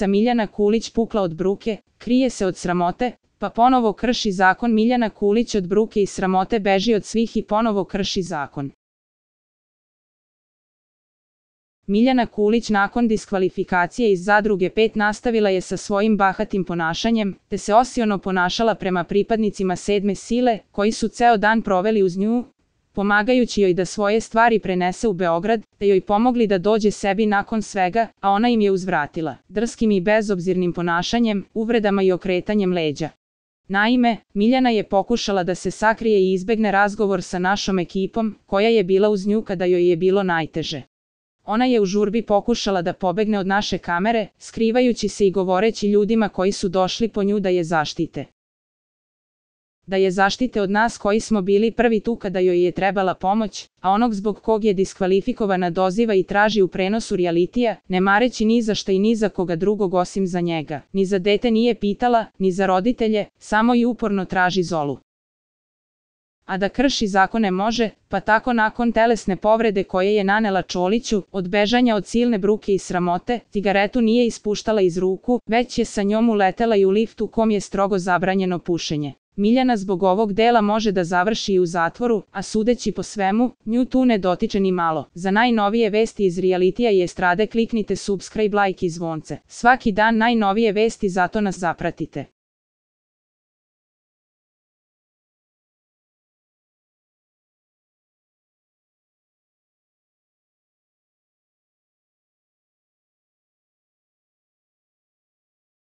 Miljana Kulić pukla od bruke, krije se od sramote, pa ponovo krši zakon. Miljana Kulić od bruke i sramote beži od svih i ponovo krši zakon. Miljana Kulić nakon diskvalifikacije iz Zadruge 5 nastavila je sa svojim bahatim ponašanjem, te se osiono ponašala prema pripadnicima 7. sile, koji su ceo dan proveli uz nju, pomagajući joj da svoje stvari prenese u Beograd, te joj pomogli da dođe sebi nakon svega, a ona im je uzvratila, drskim i bezobzirnim ponašanjem, uvredama i okretanjem leđa. Naime, Miljana je pokušala da se sakrije i izbegne razgovor sa našom ekipom, koja je bila uz nju kada joj je bilo najteže. Ona je u žurbi pokušala da pobegne od naše kamere, skrivajući se i govoreći ljudima koji su došli po nju da je zaštite. Da je zaštite od nas koji smo bili prvi tu kada joj je trebala pomoć, a onog zbog kog je diskvalifikovana doziva i traži u prenosu realitija, ne mareći ni za šta i ni za koga drugog osim za njega. Ni za dete nije pitala, ni za roditelje, samo i uporno traži Zolu. A da krši zakone može, pa tako nakon telesne povrede koje je nanela Čoliću, od bežanja od silne bruke i sramote, cigaretu nije ispuštala iz ruku, već je sa njom uletela i u liftu kom je strogo zabranjeno pušenje. Miljana zbog ovog dela može da završi i u zatvoru, a sudeći po svemu, nju tu ne dotiče ni malo. Za najnovije vesti iz realitija i estrade kliknite subscribe, like i zvonce. Svaki dan najnovije vesti, zato nas zapratite.